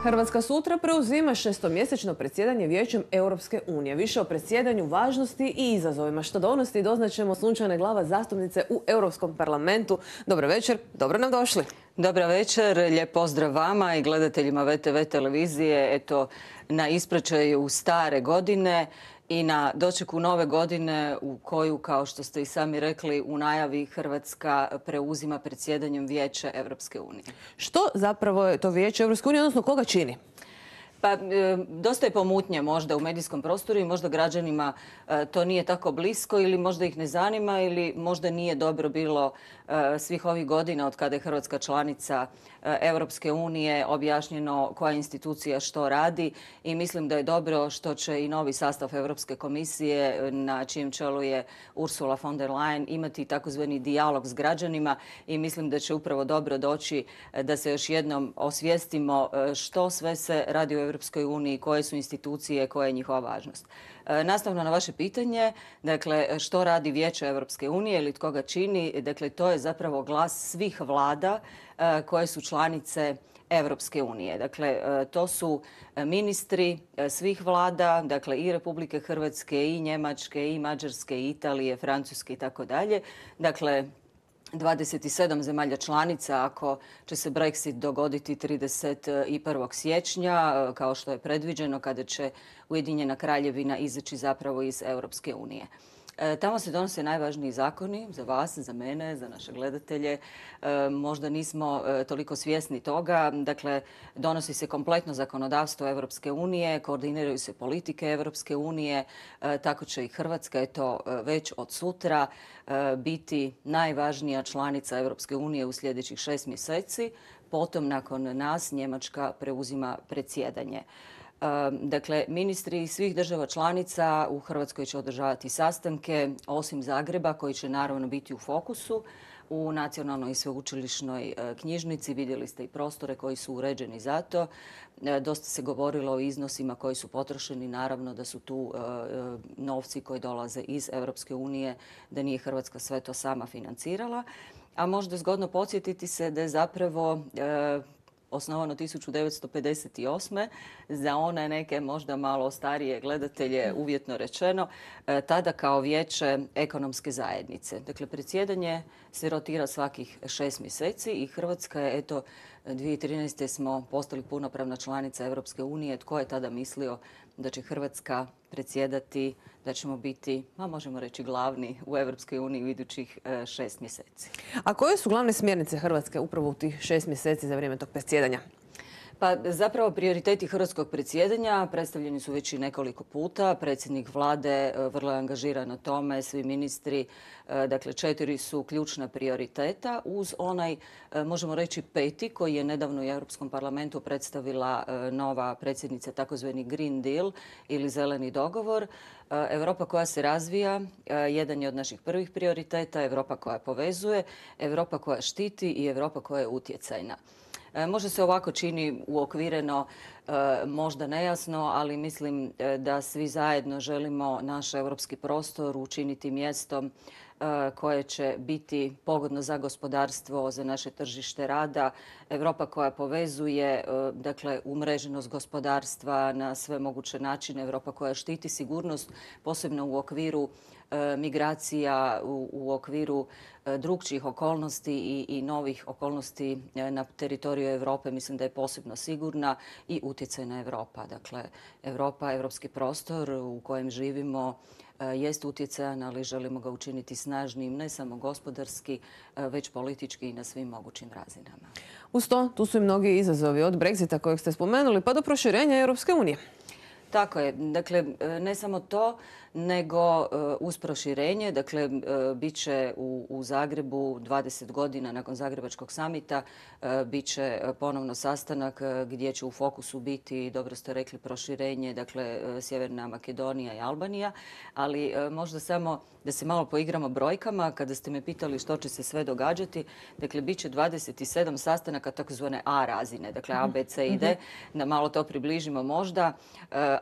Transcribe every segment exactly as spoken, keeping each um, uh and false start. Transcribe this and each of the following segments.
Hrvatska sutra preuzima šestomjesečno predsjedanje Vijećem Europske unije. Više o predsjedanju, važnosti i izazovima što donosi doznaćemo Sunčane Glavaš, zastupnice u Europskom parlamentu. Dobro večer, dobro nam došli. Dobra večer, lijep pozdrav vama i gledateljima V T V televizije. Eto, na ispraćaju stare godine i na dočeku nove godine u koju, kao što ste i sami rekli, u najavi Hrvatska preuzima predsjedanjem Vijeća Europske unije. Što zapravo je to Vijeće Europske unije, odnosno koga čini? Pa, dosta je pomutnje možda u medijskom prostoru i možda građanima to nije tako blisko ili možda ih ne zanima ili možda nije dobro bilo svih ovih godina od kada je Hrvatska članica Europske unije objašnjeno koja institucija što radi i mislim da je dobro što će i novi sastav Europske komisije na čijem čelu je Ursula von der Leyen imati takozvani dijalog s građanima i mislim da će upravo dobro doći da se još jednom osvijestimo što sve se radi u Europskoj uniji, koje su institucije, koja je njihova važnost. Nastavno na vaše pitanje, dakle, što radi Vijeće Europske unije ili tko ga čini, dakle, to je zapravo glas svih vlada koje su članice Europske unije. Dakle, to su ministri svih vlada, dakle i Republike Hrvatske, i Njemačke, i Mađarske, i Italije, Francuske i tako dalje. Dakle, dvadeset sedam zemalja članica ako će se Brexit dogoditi trideset prvog siječnja, kao što je predviđeno kada će Ujedinjena Kraljevina izaći zapravo iz Europske unije. Tamo se donose najvažniji zakoni za vas, za mene, za naše gledatelje. Možda nismo toliko svjesni toga. Dakle, donosi se kompletno zakonodavstvo Europske unije, koordiniraju se politike Europske unije, tako će i Hrvatska, eto, već od sutra biti najvažnija članica Europske unije u sljedećih šest mjeseci. Potom, nakon nas, Njemačka preuzima predsjedanje. Dakle, ministri svih država članica u Hrvatskoj će održavati sastanke, osim Zagreba, koji će naravno biti u fokusu. U Nacionalnoj i sveučilišnoj knjižnici vidjeli ste i prostore koji su uređeni za to. Dosta se govorilo o iznosima koji su potrošeni, naravno da su tu novci koji dolaze iz Europske unije, da nije Hrvatska sve to sama financirala. A možda zgodno podsjetiti se da je zapravo osnovano tisuću devetsto pedeset osme za one neke možda malo starije gledatelje, uvjetno rečeno, tada kao Vijeće ekonomske zajednice. Dakle, predsjedanje se rotira svakih šest mjeseci i Hrvatska je, eto, dvije tisuće trinaeste. smo postali punopravna članica Europske unije. Tko je tada mislio da će Hrvatska predsjedati, da ćemo biti, ma možemo reći, glavni u Europskoj uniji u idućih šest mjeseci. A koje su glavne smjernice Hrvatske upravo u tih šest mjeseci za vrijeme tog predsjedanja? Pa zapravo prioriteti hrvatskog predsjedanja predstavljeni su već i nekoliko puta. Predsjednik vlade vrlo je angažiran na tome, svi ministri. Dakle, četiri su ključna prioriteta uz onaj, možemo reći, peti koji je nedavno u Europskom parlamentu predstavila nova predsjednica, takozvani Green Deal ili zeleni dogovor. Europa koja se razvija jedan je od naših prvih prioriteta, Europa koja povezuje, Europa koja štiti i Europa koja je utjecajna. Možda se ovako čini uokvireno, možda nejasno, ali mislim da svi zajedno želimo naš europski prostor učiniti mjestom koje će biti pogodno za gospodarstvo, za naše tržište rada. Europa koja povezuje, dakle, umreženost gospodarstva na sve moguće načine. Europa koja štiti sigurnost, posebno u okviru migracija, u, u okviru drugčijih okolnosti i, i novih okolnosti na teritoriju Europe. Mislim da je posebno sigurna i utjecajna Europa. Dakle, Europa, europski prostor u kojem živimo, jest utjecajan, ali želimo ga učiniti snažnim, ne samo gospodarski, već politički i na svim mogućim razinama. Uz to, tu su i mnogi izazovi od Brexita kojeg ste spomenuli pa do proširenja Europske unije. Tako je. Dakle, ne samo to, nego uz proširenje. Dakle, bit će u, u Zagrebu dvadeset godina nakon Zagrebačkog samita, bit će ponovno sastanak gdje će u fokusu biti, dobro ste rekli, proširenje, dakle, Sjeverna Makedonija i Albanija. Ali možda samo da se malo poigramo brojkama, kada ste me pitali što će se sve događati, dakle, bit će dvadeset sedam sastanaka takozvane A razine, dakle A, B, C i D, da malo to približimo možda.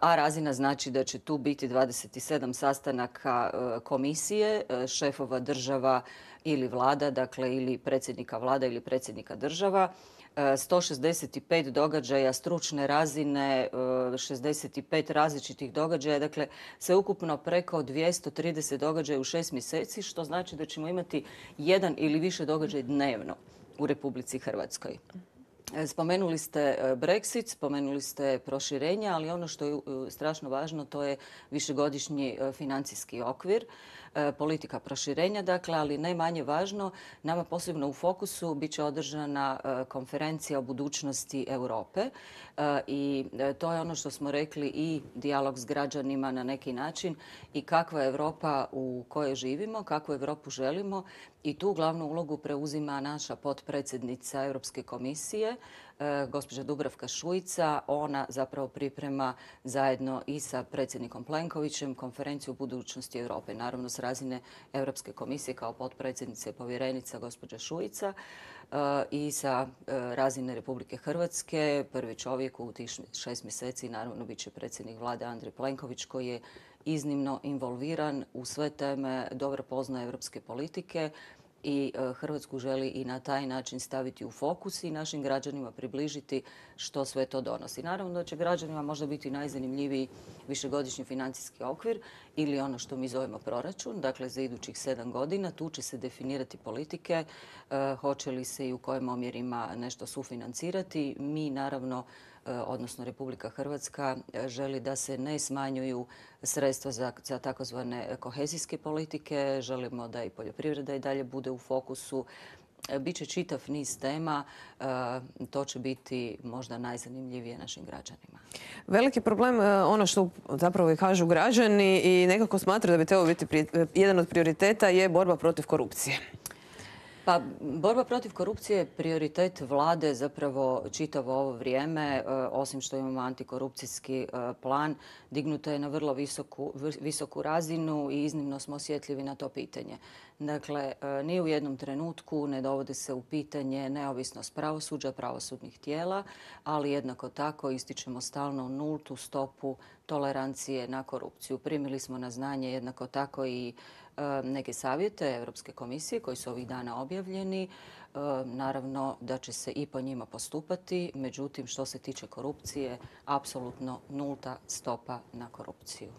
A razina znači da će tu biti dvadeset sedam sastanaka komisije, šefova država ili vlada, dakle ili predsjednika vlada ili predsjednika država. sto šezdeset pet događaja stručne razine, šezdeset pet različitih događaja, dakle sveukupno preko dvjesto trideset događaja u šest mjeseci, što znači da ćemo imati jedan ili više događaja dnevno u Republici Hrvatskoj. Spomenuli ste Brexit, spomenuli ste proširenje, ali ono što je strašno važno to je višegodišnji financijski okvir, politika proširenja, dakle, ali ne manje važno, nama posebno u fokusu bit će održana konferencija o budućnosti Europe i to je ono što smo rekli i dijalog s građanima na neki način i kakva je Europa u kojoj živimo, kakvu Europu želimo i tu glavnu ulogu preuzima naša potpredsjednica Europske komisije, gospođa Dubravka Šuica. Ona zapravo priprema zajedno i sa predsjednikom Plenkovićem konferenciju o budućnosti Europe. Naravno s razine Europske komisije kao potpredsjednice i povjerenica gospođa Šuica i sa razine Republike Hrvatske. Prvi čovjek u tih šest mjeseci naravno bit će predsjednik vlade Andrej Plenković koji je iznimno involviran u sve teme, dobro poznaje europske politike i Hrvatsku želi i na taj način staviti u fokus i našim građanima približiti što sve to donosi. Naravno da će građanima možda biti najzanimljiviji višegodišnji financijski okvir ili ono što mi zovemo proračun, dakle za idućih sedam godina. Tu će se definirati politike, hoće li se i u kojim omjerima nešto sufinancirati. Mi naravno, odnosno Republika Hrvatska, želi da se ne smanjuju sredstva za, za takozvane kohezijske politike. Želimo da i poljoprivreda i dalje bude u fokusu. Biće čitav niz tema, to će biti možda najzanimljivije našim građanima. Veliki problem, ono što zapravo i kažu građani i nekako smatraju da bi trebao biti jedan od prioriteta je borba protiv korupcije. Pa, borba protiv korupcije je prioritet vlade zapravo čitavo ovo vrijeme. Osim što imamo antikorupcijski plan, dignuto je na vrlo visoku, visoku razinu i iznimno smo osjetljivi na to pitanje. Dakle, ni u jednom trenutku ne dovodi se u pitanje neovisnost pravosuđa, pravosudnih tijela, ali jednako tako ističemo stalno nultu stopu tolerancije na korupciju. Primili smo na znanje jednako tako i neke savjete Europske komisije koji su ovih dana objavljeni. Naravno da će se i po njima postupati, međutim što se tiče korupcije, apsolutno nulta stopa na korupciju.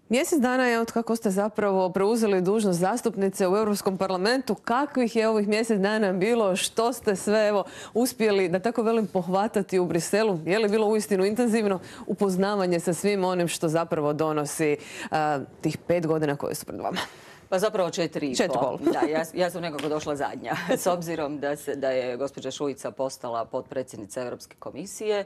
Mjesec dana je od kako ste zapravo preuzeli dužnost zastupnice u Europskom parlamentu. Kakvih je ovih mjesec dana bilo? Što ste sve evo, uspjeli, da tako velim, pohvatati u Briselu? Je li bilo uistinu intenzivno upoznavanje sa svim onim što zapravo donosi a, tih pet godina koje su pred vama? Pa zapravo četiri i Četiri pol. Da, ja, ja sam nekako došla zadnja. S obzirom da, se, da je gospođa Šuica postala potpredsjednica Europske komisije,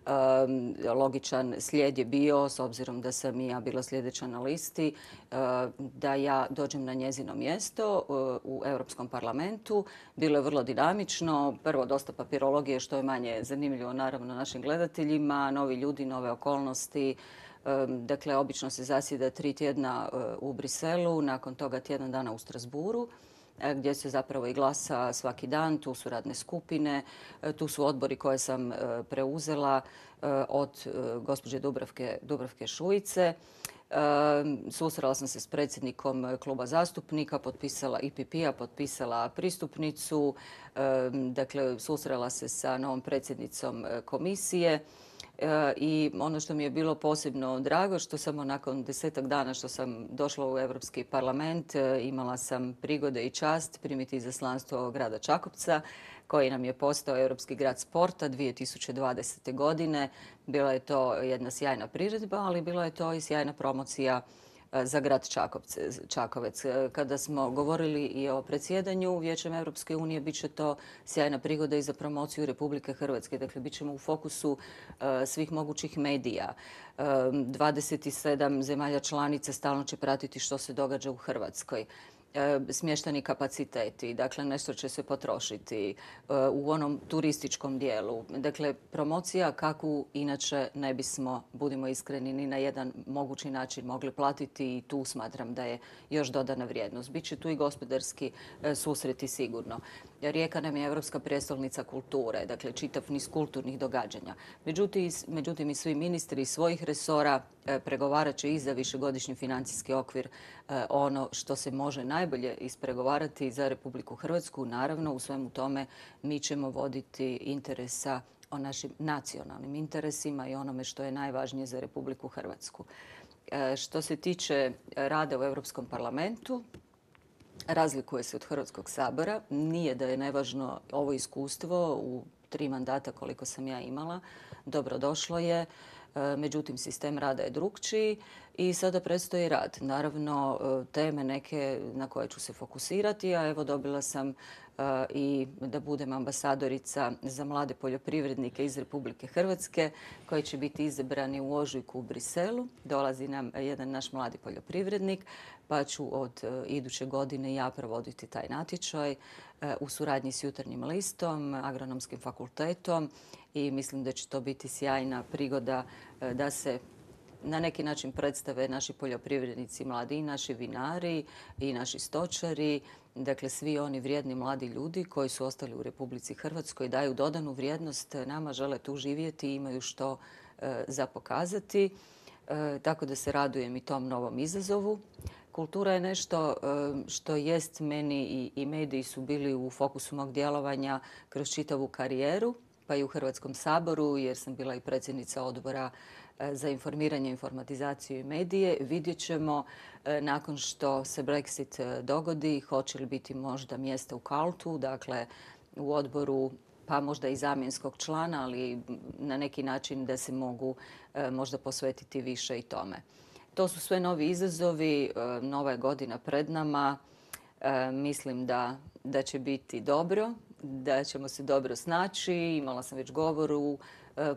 Um, logičan slijed je bio, s obzirom da sam i ja bila sljedeća na listi, uh, da ja dođem na njezino mjesto uh, u Europskom parlamentu. Bilo je vrlo dinamično. Prvo, dosta papirologije, što je manje zanimljivo naravno našim gledateljima. Novi ljudi, nove okolnosti. Um, dakle, obično se zasjeda tri tjedna uh, u Briselu, nakon toga tjedan dana u Strasbourgu, gdje se zapravo i glasa svaki dan. Tu su radne skupine, tu su odbori koje sam preuzela od gospođe Dubravke, Dubravke Šuice. Susrela sam se s predsjednikom kluba zastupnika, potpisala I P P-a, potpisala pristupnicu. Dakle, susrela se sa novom predsjednicom komisije. I ono što mi je bilo posebno drago, što samo nakon desetak dana što sam došla u Europski parlament, imala sam prigode i čast primiti izaslanstvo grada Čakovca, koji nam je postao Europski grad sporta dvije tisuće dvadesete. godine. Bila je to jedna sjajna priredba, ali bila je to i sjajna promocija za grad Čakovec. Kada smo govorili i o predsjedanju Vijećem Europske unije, bit će to sjajna prigoda i za promociju Republike Hrvatske. Dakle, bit ćemo u fokusu svih mogućih medija. dvadeset sedam zemalja članica stalno će pratiti što se događa u Hrvatskoj. Smješteni kapaciteti, dakle nešto će se potrošiti u onom turističkom dijelu. Dakle, promocija kakvu inače ne bismo, budimo iskreni, ni na jedan mogući način mogli platiti i tu smatram da je još dodana vrijednost. Biće tu i gospodarski susreti sigurno. Rijeka nam je Europska prijestolnica kulture, dakle čitav niz kulturnih događanja. Međutim, međutim i svi ministri iz svojih resora pregovarat će i za višegodišnji financijski okvir ono što se može najbolje ispregovarati za Republiku Hrvatsku. Naravno, u svemu tome mi ćemo voditi interesa o našim nacionalnim interesima i onome što je najvažnije za Republiku Hrvatsku. Što se tiče rada u Europskom parlamentu, razlikuje se od Hrvatskog sabora. Nije da je nevažno ovo iskustvo u tri mandata koliko sam ja imala. Dobrodošlo je. Međutim, sistem rada je drukčiji i sada predstoji rad. Naravno, teme neke na koje ću se fokusirati, a evo dobila sam i da budem ambasadorica za mlade poljoprivrednike iz Republike Hrvatske koji će biti izabrani u ožujku u Briselu. Dolazi nam jedan naš mladi poljoprivrednik, pa ću od iduće godine ja provoditi taj natječaj u suradnji s Jutarnjim listom, Agronomskim fakultetom i mislim da će to biti sjajna prigoda da se na neki način predstave naši poljoprivrednici mladi i naši vinari i naši stočari. Dakle, svi oni vrijedni mladi ljudi koji su ostali u Republici Hrvatskoj, daju dodanu vrijednost nama, žele tu živjeti i imaju što e, za pokazati. E, tako da se radujem i tom novom izazovu. Kultura je nešto e, što jest meni i, i mediji su bili u fokusu mog djelovanja kroz čitavu karijeru, pa i u Hrvatskom saboru, jer sam bila i predsjednica odbora za informiranje, informatizaciju i medije. Vidjet ćemo nakon što se Brexit dogodi, hoće li biti možda mjesta u Kaltu, dakle u odboru, pa možda i zamjenskog člana, ali na neki način da se mogu možda posvetiti više i tome. To su sve novi izazovi, nova je godina pred nama. Mislim da, da će biti dobro, da ćemo se dobro snaći. Imala sam već govor u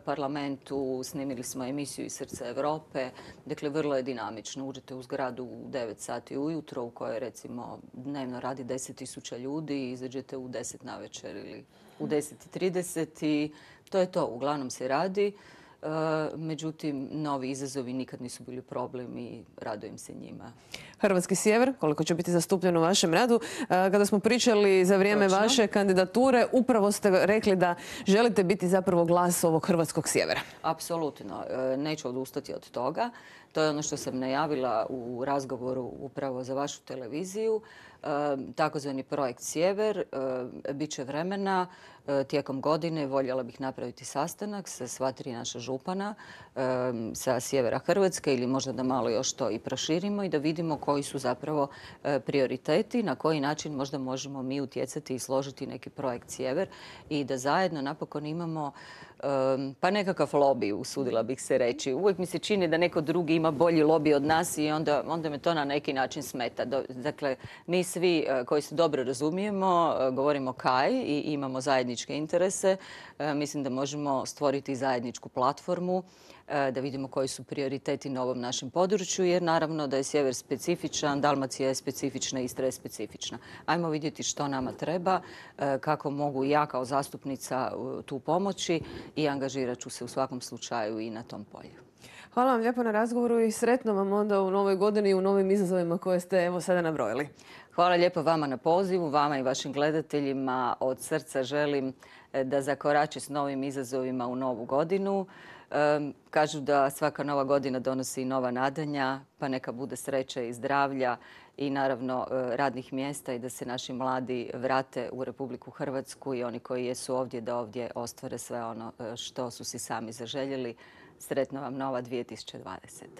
parlamentu, snimili smo emisiju iz srca Europe. Dakle, vrlo je dinamično. Uđete u zgradu u devet sati ujutro u kojoj recimo dnevno radi deset tisuća ljudi i izađete u deset navečer ili u deset i trideset i to je to. Uglavnom se radi. Međutim, novi izazovi nikad nisu bili problem i radujem se njima. Hrvatski sjever, koliko će biti zastupljen u vašem radu. Kada smo pričali za vrijeme Točno. vaše kandidature, upravo ste rekli da želite biti zapravo glas ovog hrvatskog sjevera. Apsolutno. Neću odustati od toga. To je ono što sam najavila u razgovoru upravo za vašu televiziju. Takozvani projekt Sjever. Biće vremena tijekom godine. Voljela bih napraviti sastanak sa sva tri naša župana sa sjevera Hrvatske ili možda da malo još to i proširimo i da vidimo koji su zapravo prioriteti, na koji način možda možemo mi utjecati i složiti neki projekt Sjever i da zajedno napokon imamo pa nekakav lobby, usudila bih se reći. Uvijek mi se čini da neko drugi ima bolji lobby od nas i onda, onda me to na neki način smeta. Dakle, mi svi koji se dobro razumijemo, govorimo kaj i imamo zajedničke interese. Mislim da možemo stvoriti zajedničku platformu, da vidimo koji su prioriteti na ovom našem području, jer naravno da je sjever specifičan, Dalmacija je specifična, Istra je specifična. Ajmo vidjeti što nama treba, kako mogu ja kao zastupnica tu pomoći i angažirat ću se u svakom slučaju i na tom polju. Hvala vam lijepo na razgovoru i sretno vam onda u novoj godini i u novim izazovima koje ste evo sada nabrojili. Hvala lijepo vama na pozivu, vama i vašim gledateljima. Od srca želim da zakorače s novim izazovima u novu godinu. Kažu da svaka nova godina donosi nova nadanja, pa neka bude sreće i zdravlja i naravno radnih mjesta i da se naši mladi vrate u Republiku Hrvatsku i oni koji jesu ovdje da ovdje ostvare sve ono što su si sami zaželjeli. Sretno vam nova dvije tisuće dvadeseta.